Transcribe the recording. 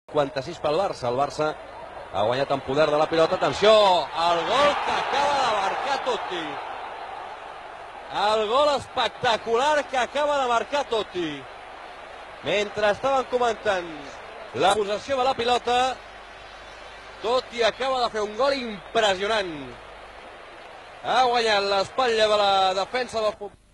56 pel Barça. El Barça ha guanyat en poder de la pilota. Atenció, el gol que acaba de marcar Totti. El gol espectacular que acaba de marcar Totti. Mentre estaven comentant la possessió de la pilota, Totti acaba de fer un gol impressionant. Ha guanyat l'espatlla de la defensa del futbol.